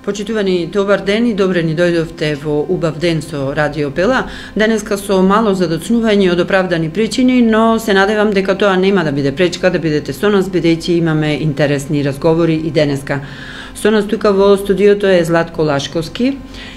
Почитувани, добар ден и добре ни дојдовте во убав ден со Радио Пела. Денеска со мало задоцнување од оправдани причини, но се надевам дека тоа нема да биде пречка да бидете со нас, бидејќи имаме интересни разговори и денеска. Со нас тука во студиото е Златко Лашковски,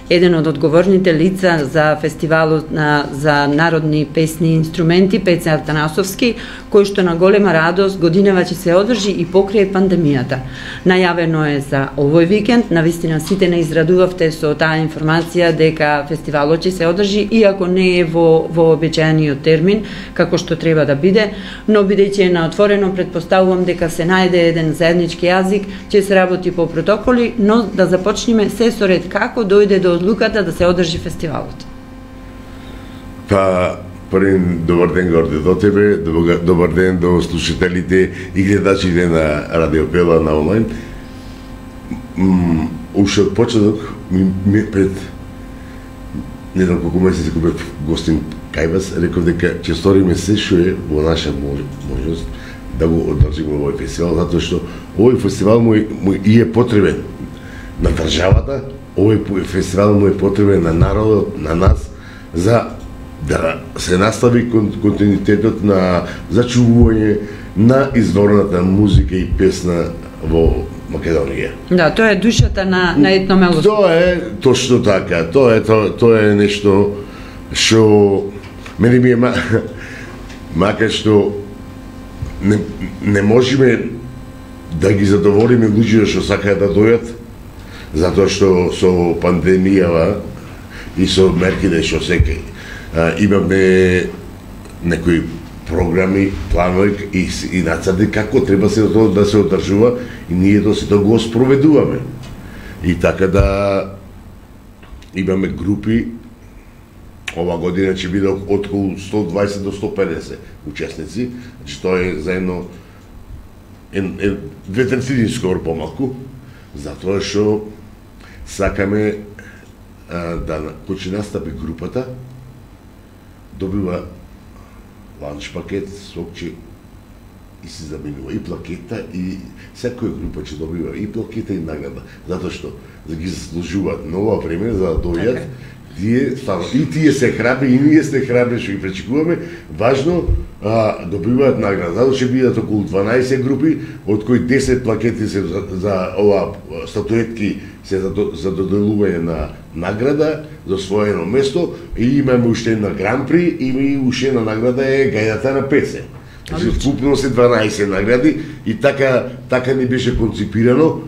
еден од одговорните лица за фестивалот за народни песни и инструменти Пеце Атанасовски, кој што на голема радост годинава ќе се одржи и покрај пандемијата. Најавено е за овој викенд, навистина сите не израдувавте со таа информација дека фестивалот ќе се одржи, иако не е во обичаениот термин, како што треба да биде, но бидејќи е на отворено, предпоставувам дека се најде еден заеднички јазик, ќе се работи по протоколи, но да започнеме се со ред како дојде до одлуката да се одржи фестивалот. Па, првен добар ден Горде до тебе, добар ден до слушателите и гледачите на Радио Пела на онлайн. Уште од почеток, пред не знам колку месеци кога бев гостин кај вас, реков дека ќе сториме се што е во наша можност да го одржиме овој фестивал, затоа што овој фестивал му и е потребен на државата, овој фестивал му е потребен на народот, на нас, за да се настави континуитетот на зачувување на изворната музика и песна во Македонија. Да, тоа е душата на етномелост. Тоа е точно така. Тоа е нешто што мене ми е макар што не можеме да ги задоволиме луѓето што сакаат да дојат, затоа што со пандемијава и со мерките што секај имаме некои програми, планови и нацрти како треба се тоа да се одржува и ние до сето го спроведуваме. И така да имаме групи, ова година ќе биде од околу 120 до 150 учесници, значи тоа е заедно две третини скоро помалку, затоа што сакаме да кој ќе настапи групата, добива ланч пакет, сокче и се заминува и плакета и секоја група ќе добива и плакета и награда, затоа што да ги заслужуваат на ова време за да дојдат. Тие се храбри и ние сте храбри што ги пречекуваме, важно добиваат награда. Затоа ќе бидат околу 12 групи, од кои 10 плакети се за ова статуетки се за доделување на награда за освоено место и имаме уште една гран-при и уште една награда е гајдата на Пеце. Значи вкупно се 12 награди и така ни беше конципирано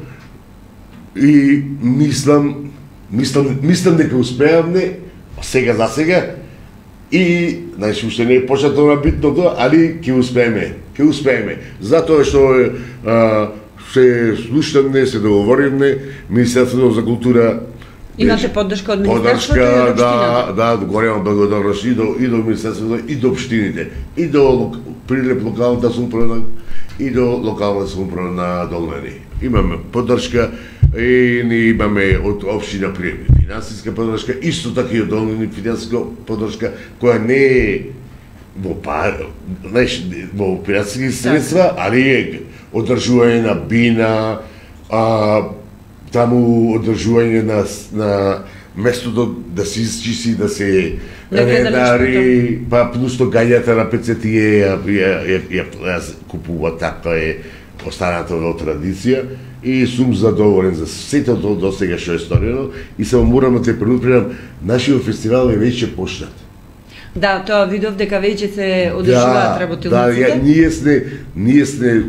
и мислам дека успеавме сега за сега и значи уште не е почнато на битното, али ќе успееме. Затоа што се слушаме, се договориме, Министерството за култура имате поддршка од Министерството и од општината? Да, голема благодарност и до Министерството и до општините, и до Прилеп локалната самоуправа и до локалната самоуправа на Долнени. Имаме поддршка и ни имаме од општина Прилеп финансиска поддршка, исто така и од Долнени финансиска поддршка, која не е во финансиски средства, али е одржување на бина, таму одржување на местото да се изчисти, да се редари, па плюс гајата на Пеце тие ја купува, така е останата во традиција и сум задоволен за сето тоа до сега што е сторено и само морам да те предупредам, нашиот фестивал е веќе почнат. Да, тоа видов дека веќе се одржуваат работилниците. Ние сме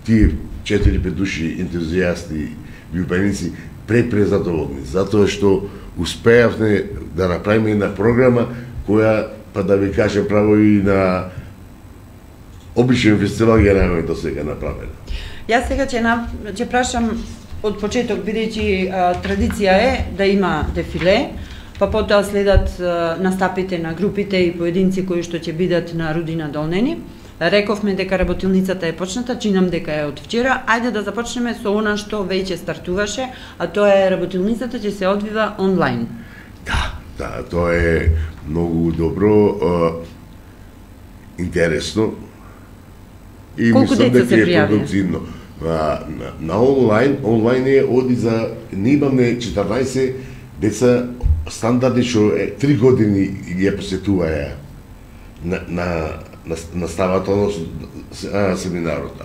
тие 4-5 души ентузијасти љубеници презадоволни, затоа што успеавме да направиме една програма која, па да ви кажем право и на обичен фестивал ја немаме до сега направена. Јас сега ќе прашам од почеток, бидејќи традиција е да има дефиле, па потоа следат настапите на групите и поединци кои што ќе бидат на Рудина Долнени. Рековме дека работилницата е почната, чинам дека е од вчера. Ајде да започнеме со она што веќе стартуваше, а тоа е работилницата ќе се одвива онлайн. Да, тоа е многу добро, интересно и колку мислам дека е продуктивно. На онлайн е оди за не имаме 14 деца стандардни што 3 години ги посетуваја на ставата семинарот.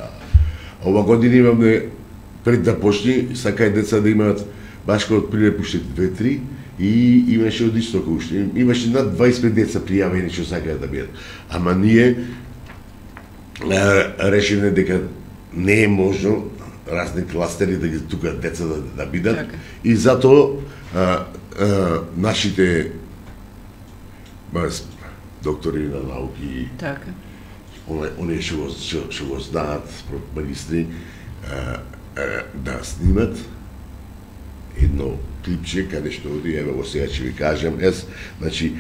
Ова година имаме пред да почне, сакај деца да имаат башка од прилеп уште 2-3 и имаше од истока уште. Имаше над 25 деца пријавени што сакаат да бидат. Ама ние решивме дека не е можно разни кластери да ги тука деца да бидат и затоа нашите доктори на науки оние што го знаат магистри да снимат едно клипче каде што оди, ево сега ќе ви кажам, значи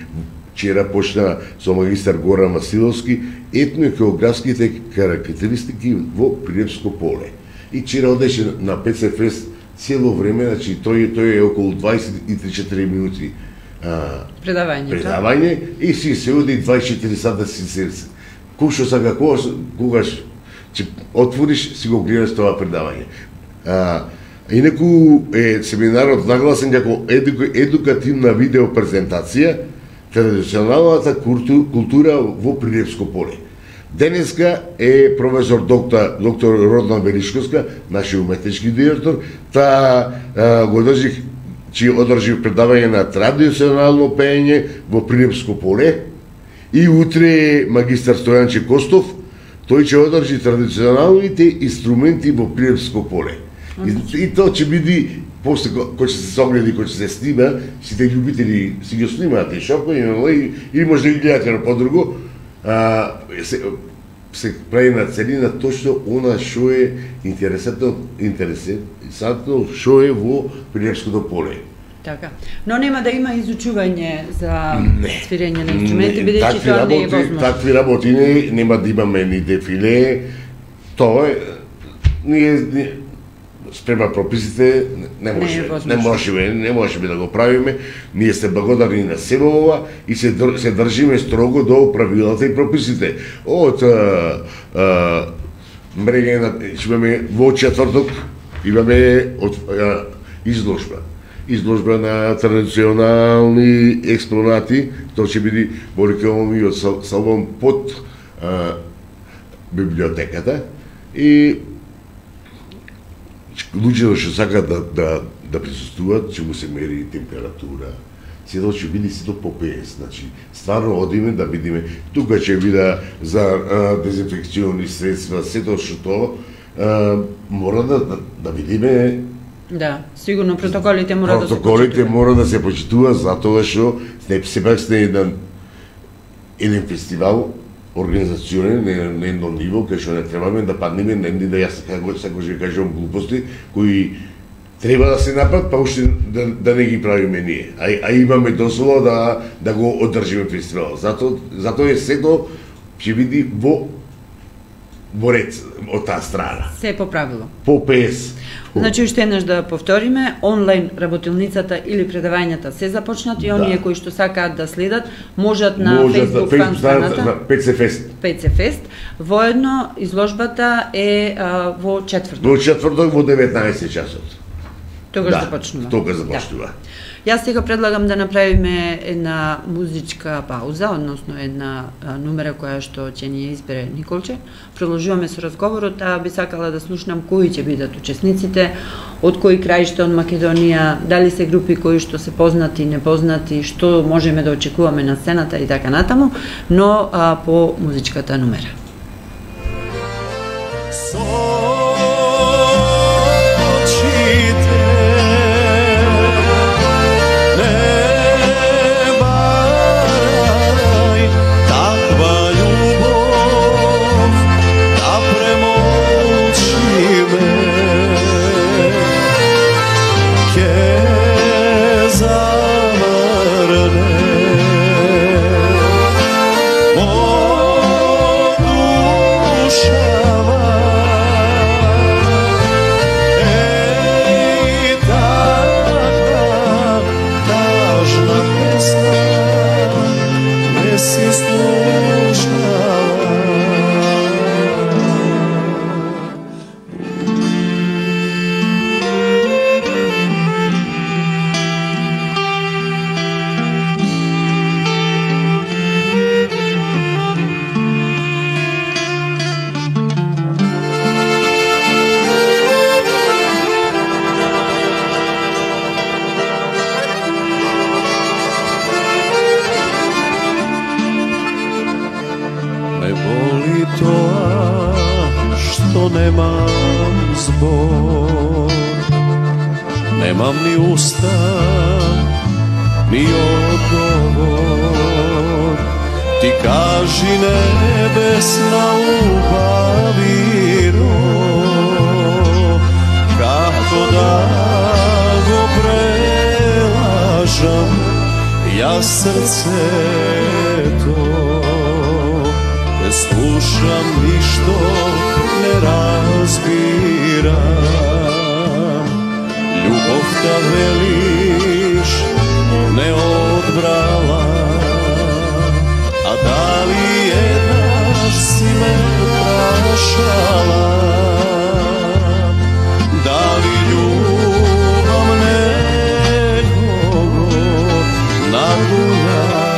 вчера почна со магистар Горан Василовски етно-географските карактеристики во Прилепско поле. И вчера одеше на ПЦ Фест цело време, значи тој е околу 23-4 минути предавање и си се оди 24 сата си кој што сака когаш ќе отвориш си го гледаш тоа предавање. Инаку е семинарот нагласен како едукативна видеопрезентација традиционалната култура во Прилепско поле. Денеска е професор доктор Родна Велишковска, нашиот уметнички директор, го одржи предавање на традиционално пеење во Прилепско поле и утре магистар Стојанче Костов, тој ќе одржи традиционалните инструменти во Прилепско поле. И тоа ќе биде после кој ќе се согледа и кој ќе се снима, сите љубители си ги снимаат и шопко и може да ги гледате на подруго, се прави на целина точно она што е интересантно што е во Прилепското поле. Така. Но нема да има изучување за свирење на инструменти, бидејќи тоа не е возможно. Такви работи нема да имаме ни дефиле, тоа е спрема прописите не можеме да го правиме. Ние сте благодарни на себе ова и се држиме строго до правилата и прописите. Од мрегање имаме во четврток имаме изложба на традиционални експонати, тоа ќе биде во рекламиот салон под библиотеката и луѓето што сакаат да присуствуваат, ќе му се мери температура, сето ќе биде сето по 50, значи стварно одиме да видиме, тука ќе биде за дезинфекциони средства, сето што мора да видиме. Да, сигурно протоколите мора да се почитуваат. Протоколите мора да се почитуваат затоа што сепак сте еден фестивал организационен на едно ниво, кај што не требаме да паднеме на да јас сакаш да кажам глупости, кои треба да се направат, па уште да не ги правиме ние. А имаме дозвола да го одржиме фестивал. Затоа е сето ќе биде во ред од таа страна. Се по правило. По ПС. Значи, уште еднаш да повториме, онлайн работилницата или предавањата се започнат и оние кои што сакаат да следат, можат на Facebook фан страната ПЦ Фест. ПЦ Фест. Воедно изложбата е во четврток. Во четврток во 19 часот. Тогаш започнува. Тогаш започнува. Јас сега предлагам да направиме една музичка пауза, односно една номера која што ќе ни избере Николче. Продолжуваме со разговорот, а би сакала да слушнам кои ќе бидат учесниците, од кои краишта од Македонија, дали се групи кои што се познати, непознати, што можеме да очекуваме на сцената и така натаму, но по музичката номера. Oh Nemam ni usta, ni odgovor. Ti kaži nebesna ljubaviro, kako da go prelažam, ja srce to ne slušam, ništo ne razbiram. Ljubov ta veliš ne odbrala, a da li jednaš si me prašala? Da li ljubav nekogo nagujala?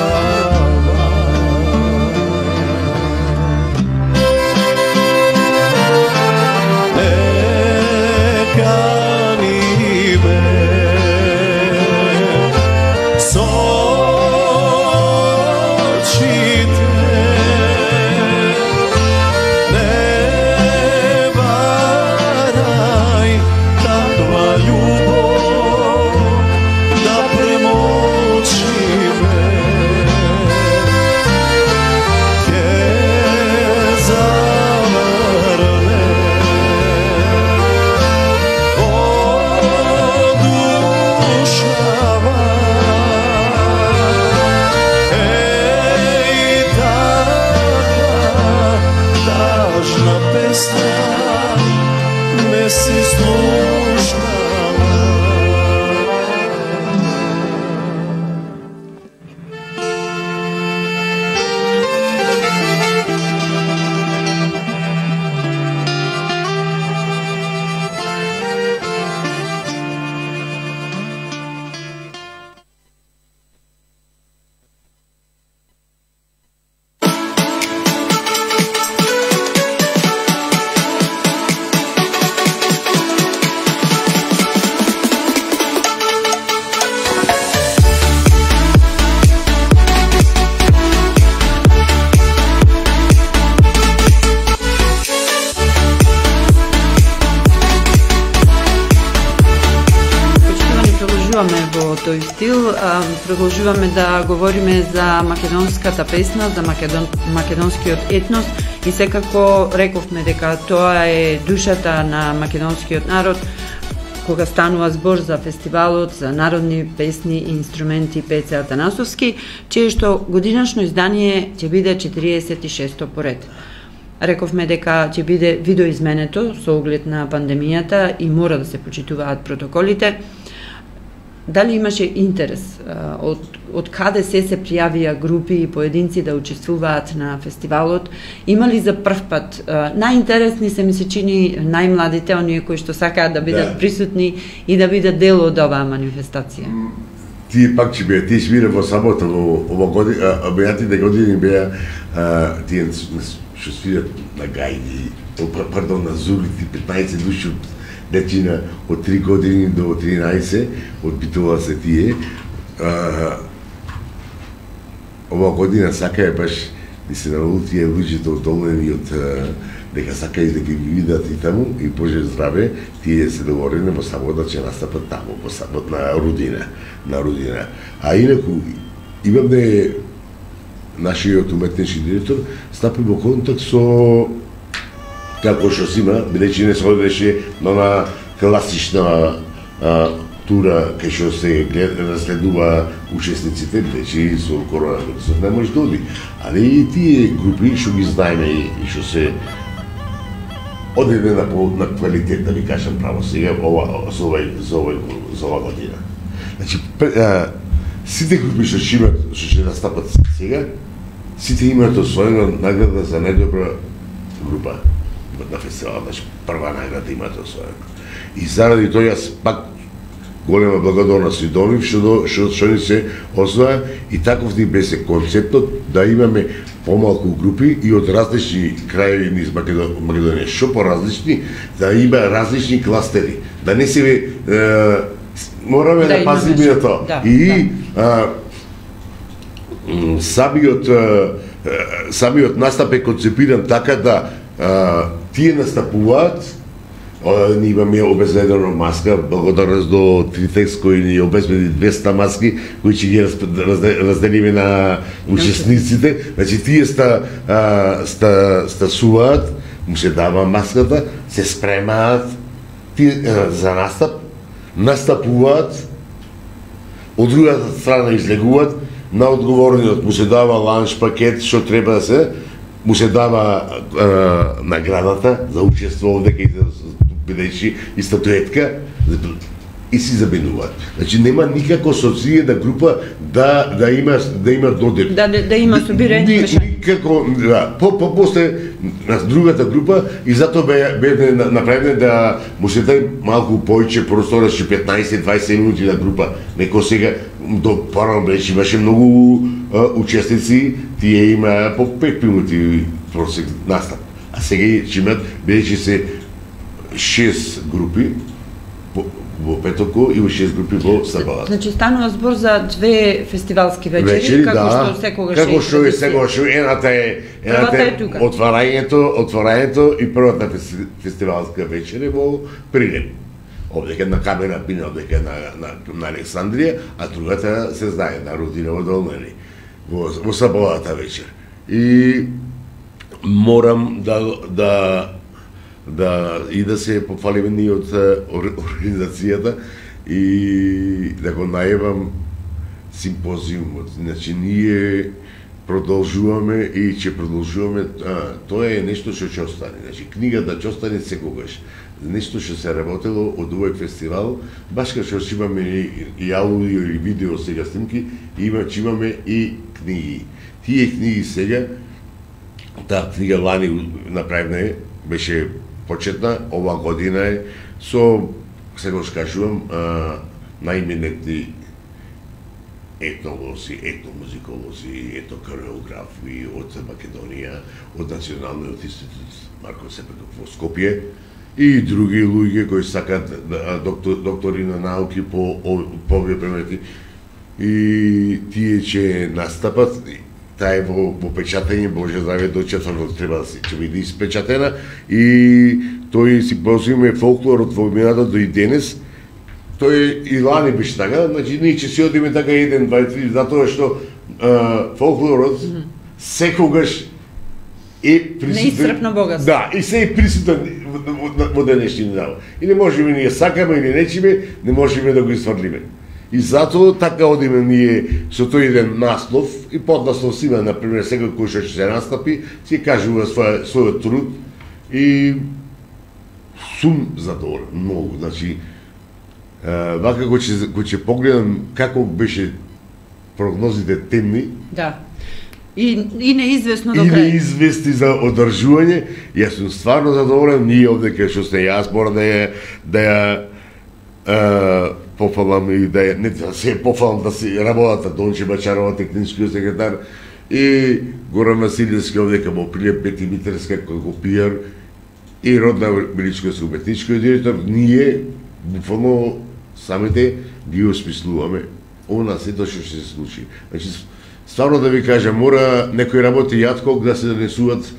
Во тој стил продолжуваме да говориме за македонската песна, за македонскиот етнос и секако рековме дека тоа е душата на македонскиот народ кога станува збор за фестивалот за народни песни и инструменти Пеце Атанасовски, чие што годинашно издание ќе биде 46-то поред. Рековме дека ќе биде видоизменето со оглед на пандемијата и мора да се почитуваат протоколите. Дали имаше интерес од каде се пријавија групи и поединци да учествуваат на фестивалот? Има ли за прв пат? Најинтересни се ми се чини најмладите, оние кои што сакаат да бидат присутни и да бидат дел од оваа манифестација. Тие пак ќе беа, тие свира во сабота, во ова година, обејатите години беа тие што свират на гајди, на зулите, 15 души дечина од 3 години до 13, одбитува се тие. Ова година сакаја баш да се научат тие луѓето одолнени од дека сакаја да ги видат и таму и Боже здраве, тие се договорени во сабота ќе настапат таму, во сабот на Рудина. А инаку, имам да е нашиот уметнички директор стапи во контакт со како што си има, бидејќи не се одеше на она класична тура кај што се разгледува учесниците, бидејќи со коронавирусот не може да оди. Али и тие групи што ги знаеме и што се одеде на квалитет, да ви кажам право сега, за ова година. Значи, сите групи што ќе настапат сега, сите имаат освоена награда за најдобра група на фестивалот, значи прва награда имаат освоена. И заради тоа јас пак голема благодарност и до нив што ни се освоја и таков ни беше концептот да имаме помалку групи и од различни крајеви низ Македонија, што поразлични, да има различни кластери, да не се мораме да пазиме на тоа. И самиот настап е концепиран така да тие настапуваат Ние имаме обезбедено маска, благодарност до Тритекс кој ни обезбеди 200 маски, кои ќе ги разделиме на учесниците. Значи тие стасуваат, му се дава маската, се спремаат за настапуваат, од другата страна излегуваат, на одговорниот му се дава ланч пакет, што треба да се, му се дава наградата за учество овде кај бидејќи и статуетка и си забинуваат. Значи нема никако со цијена група да има додир. Да има собирање. Никако, да. После на другата група и затоа бе направено да му се дај малку поиќе простор, 15-20 минути на група. Неко сега до порано беше имаше многу учесници, тие има по 5 минути просек настап. А сега ќе имат бидејќи се 6 групи во петоко и 6 групи во сабалата. Значи станува збор за 2 фестивалски вечери, како што секогаш е. Како што е секогаш, едната е отворањето и првата фестивалска вечер во Прилеп. Овдека на Камена Пина, овдека на Александрија, а другата се знае на Рудиново Долнени, во сабалата вечер. И морам да се пофалиме ние од организацијата и да го најавам симпозиумот. Значи ние продолжуваме и ќе продолжуваме, тоа е нешто што ќе остане. Значи книгата ќе остане секогаш. Нешто што се работело од овој фестивал, баш како што имаме и аудио или видео сега снимки, ќе имаме и книги. Тие книги сега, таа книга лани направена беше почетна, ова година е со, сега кажувам, најменетни етнолози, етномузиколози, етнокореографи од Македонија, од Националниот институт Марко Сепетов во Скопје и други луѓе кои сакат доктори на науки по овие предмети. И тие ќе настапат. Таа е во печатење, Боже здраве, до четврток треба да ќе биде испечатена и тој симпозиум е фолклорот во минатото до и денес. Тој и лани беше така, значи ние ќе си одиме така 1, 2, 3, затоа што фолклорот секогаш е присутен. Неисцрпно богатство. Да, и се е присутен во денешни дава. И не можеме ние сакаме или нечиме, не можеме да го изврлиме. И затоа така одиме ние со тој еден наслов и поднаслов си има, например, секој кој што ќе се настапи, си кажува својот труд и сум задоволен, многу. Значи, вака кој ќе погледам како беше прогнозите темни, да. И неизвестно до крај. И неизвестни за одржување, јас сум стварно задоволен, ние овде кај што сте јас мора да ја пофалам и не да се пофалам да си работата Донче Бачарова, техничкиот секретар, и Горан Василевски овдека во Прилеп, Пети Митерска како пиар и Родна Величковска уметничкиот директор. Ние буквално самите ги осмислуваме она сето што ќе се случи. Значи стварно да ви кажам, мора некој работи јатког да се донесуваат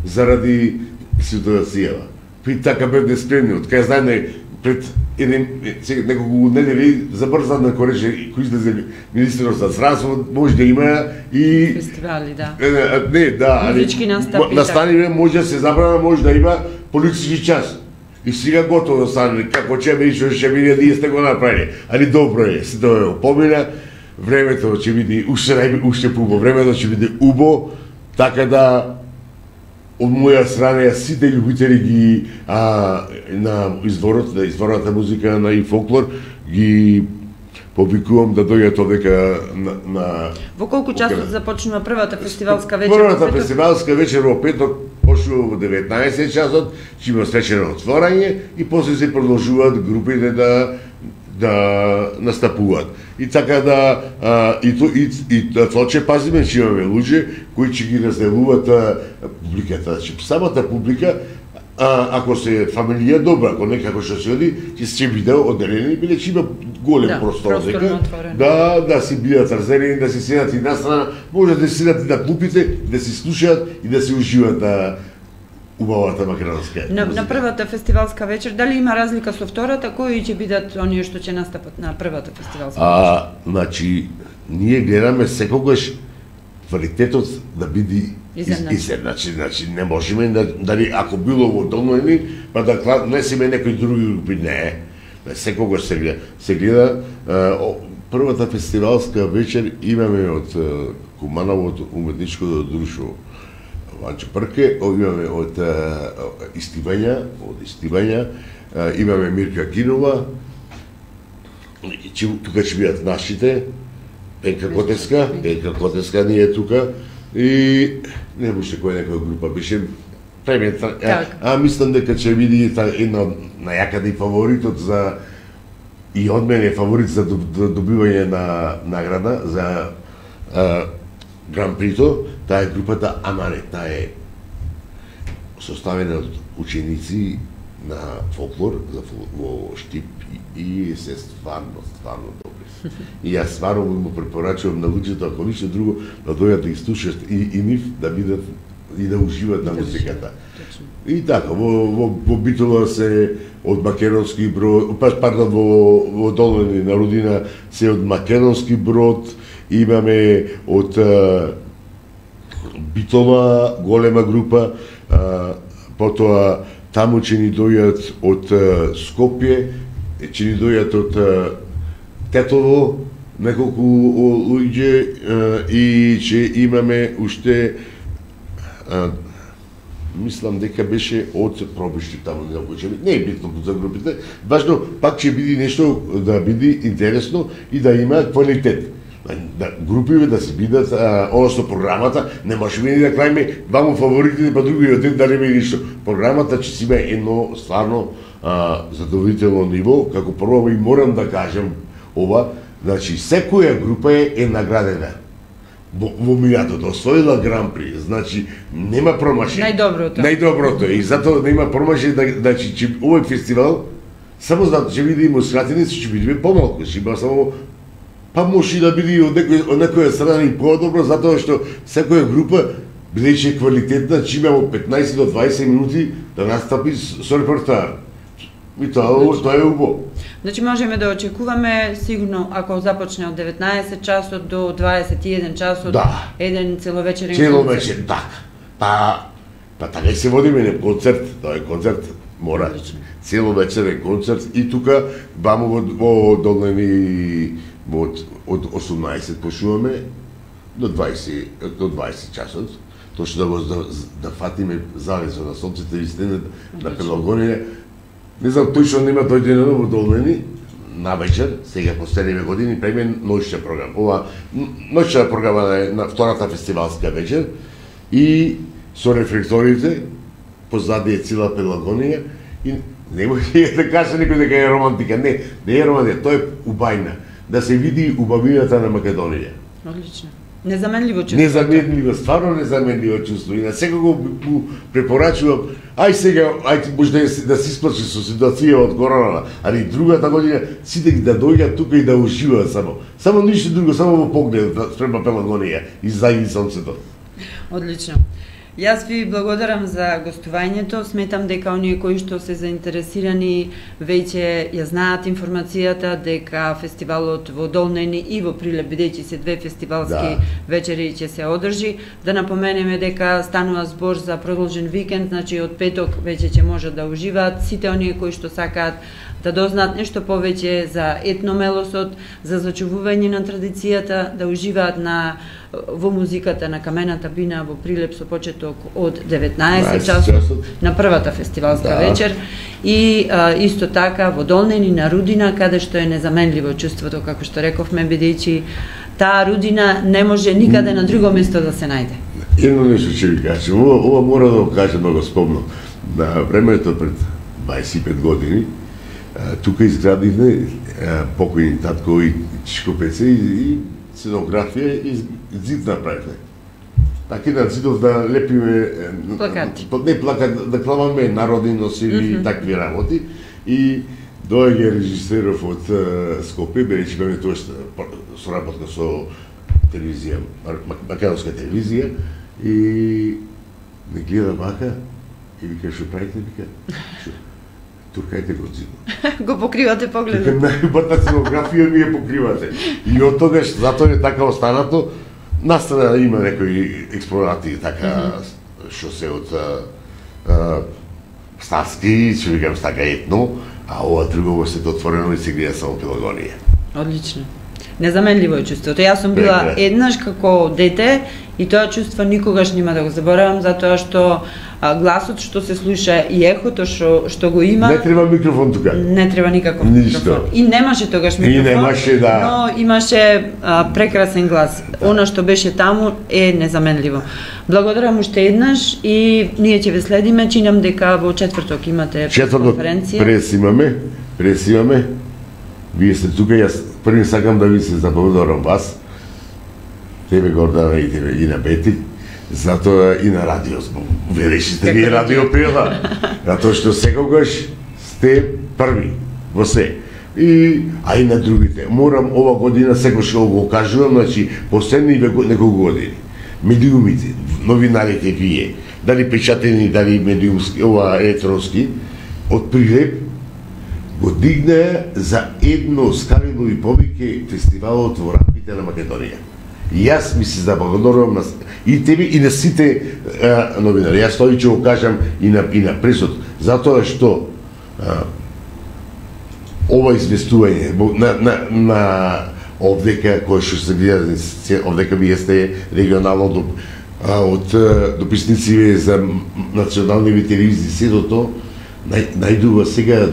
заради ситуацијава. При така бевме спремни, од кај знаеме пред неколку недели забрза да кореше кој излезе министерот за здравство, може да има и фестивали, да. Не, да, музички настапи. Настаниве може да се забрана, може да има политички час. И сега готово стане, како ќе биде што ќе биде, ние сте го направили. Али добро е, се тоа помина, времето ќе биде уште пубо, времето ќе биде убо, така да од моја страна сите љубители ги на изворната музика на и фолклор ги повикувам да дојдат овдека на Во колку часот започнува првата фестивалска вечер? Првата фестивалска вечер во петок почнува во 19 часот, ќе има свечено отворање и после се продолжуваат групите да настапуваат. И така да тоа ќе пазиме, че имаме луѓе кои ќе ги разделуваат публиката. Самата публика, ако се фамилија добра, ако некако што се оди, ќе биде одделени, бидејќи има голем простор дека да си бидат разделени, да се седат и настрана, може да се седат и на клупите, да се слушаат и да се уживаат убавата македонска. На првата фестивалска вечер, дали има разлика со втората, кои ќе бидат оние што ќе настапат на првата фестивалска вечер? Значи, ние гледаме секогаш квалитетот да биде изедначен. Значи, не можеме дали ако било во Долноени, па да внесеме некои други групи, не. Секогаш се гледа. Првата фестивалска вечер имаме од Кумановото уметничко друштво Ванчо Прке, имаме од Истивања, имаме Мирка Кинова, тука ќе бидат нашите, Пенка Котеска ни е тука, и не беше кој некоја група, беше премета. Мислам дека ќе биде една најакаде фаворитот за и од мене е фаворит за добивање на награда за Гран Прито, таа е групата Амане, таа е составена од ученици на фолклор во Штип и се стварно добри. И јас стварно му препорачувам на луѓето, ако ништо друго, да дојдат да ги слушат и нив да бидат и да уживат на музиката. И така, во Битола се од македонски брод, во Долноени на Рудина се од македонски брод, имаме од Битола голема група, потоа таму ќе ни дојат од Скопје, ќе ни дојат од Тетово неколку луѓе и ќе имаме уште мислам дека беше од Пробишти таму не е битно за групите, важно пак ќе биде нешто да биде интересно и да има квалитет. Групиве да се бидат, односно програмата, не можеме ни да крајме дваму фаворитите, па другиот ден да нема ништо. Програмата ќе си има едно стварно задоволително ниво, како прво и морам да кажам ова, значи секоја група е наградена. Во минатото освоила Гран При, значи нема промашај. Најдоброто е и затоа нема промашај, значи овој фестивал само затоа ќе биде имоскратеници, ќе биде помалку, ќе биде само па може да биде од некоја страна и подобро, затоа што секоја група бидејќи квалитетна, ќе има 15 до 20 минути да настапи со репортаж. И тоа е убаво. Значи можеме да очекуваме сигурно ако започне од 19 часот до 21 часот, еден целовечерен концерт. Целовечер, да. Па така се водиме на концерт, тоа е концерт, мора. Целовечерен концерт и тука бамо во Долноени од 18 почнуваме до 20 часот. Точно да фатиме залезот на сонцето и стенет на Пелагонија. Не знам точно нема дојдено во Долноени на вечер, сега последниве години преме ноќна програма. Ова ноќна програма е на втората фестивалска вечер и со рефлекторите позади е цела Пелагонија и не може да каже некој дека е романтика. Не е романтика, тоа е убајна. Да се види убавината на Македонија. Одлично. Незаменливо чувство. Незаменливо, стварно незаменливо чувство. И на секого му препорачувам, сега, може да се исплачи со ситуација од короната, али другата година сите да дојдат тука и да уживаат само. Само ништо друго, само во поглед спрема Пелагонија и зајди сонцето. Одлично. Јас ви благодарам за гостувањето. Сметам дека оние кои што се заинтересирани веќе ја знаат информацијата дека фестивалот во Долноени и во Прилеп, бидејќи се две фестивалски вечери ќе се одржи. Да напоменеме дека станува збор за продолжен викенд, значи од петок веќе ќе можат да уживаат сите оние кои што сакаат да дознаат нешто повеќе за етномелосот, за зачувување на традицијата, да уживаат во музиката на Камената бина во Прилеп со почеток од 19 часот на првата фестивалска вечер и исто така во Долноени на Рудина, каде што е незаменливо чувството, како што рековме, бидејќи таа Рудина не може никаде на друго место да се најде. Едно нешто ќе ви кажам, ова мора да го кажам, да го спомнам. На времето пред 25 години тука изградивме покојни татко и Чичко Пеце и сценографија и зид направивме. Така на зидов да лепиме плакати. Не плакат, да клаваме народни носиви и такви работи. И доаѓа режисеров од Скопје, бидејќи беме тоа соработка со телевизија, македонска телевизија, и не гледа вака И вика, што правите, вика, туркајте го зидо. Го покривате погледот. Вика, најубавата сценографија ми ја покривате. И од тогаш, затоа е така останато, настана има некои експонати така, што се од старски, што викам така етно, а ова друго се отворено и се гледа само Пелагонија. Одлично. Незаменливо е чувството. Јас сум била еднаш како дете и тоа чувство никогаш нема да го заборавам, затоа што гласот што се слуша и ехото што го има. Не треба микрофон тука. Не треба никаков микрофон. И немаше тогаш микрофон. И немаше, да. Но имаше прекрасен глас. Она што беше таму е незаменливо. Благодарам уште еднаш и ние ќе ве следиме. Чинам дека во четврток имате конференција. Прес имаме. Вие сте тука, јас први сакам да ви се заблагодарам вас, тебе Гордана и тебе и на Бети, затоа и на радио, вие решите вие радио Пела, затоа што секогаш сте први во се. А и на другите. Морам ова година секогаш го кажувам, значи последни неколку години. Медиумите, новинарите вие, дали печатени, дали медиумски, ова електронски, од Прилеп го дигна за едно скалило и повеќе фестивалот во рамките на Македонија. И јас ми се заблагодарувам на и тебе и на сите новинари. Јас тоа ќе го кажам и на пресот, затоа што ова известување на овдека кој што се гледа, овдека вие сте регионално од дописници за национални телевизии, се до тоа најдува сега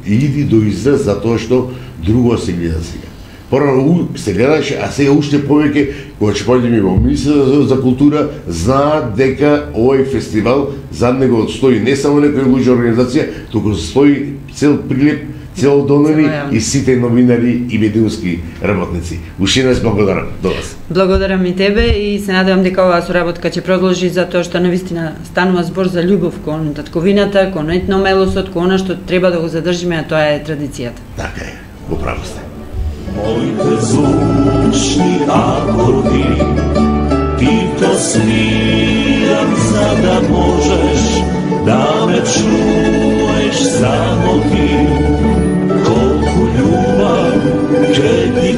иди до израз затоа што друго се гледа сега. Порано се гледаше, а сега уште повеќе, кога ќе појдеме во Министерството за култура, знаат дека овој фестивал зад него стои не само некоја луѓа организација, туку стои цел Прилеп, цел Донери и сите новинари и медиумски работници. Уште еднаш благодарам до вас. Благодарам и тебе и се надевам дека оваа соработка ќе продолжи затоа што навистина станува збор за љубов кон татковината, кон етномелосот, кон она што треба да го задржиме, а тоа е традицијата. Така е, го право сте. Моите звучни акорди, ти то свирам за да можеш да ме чуеш само ти. Колку љубав ќе ти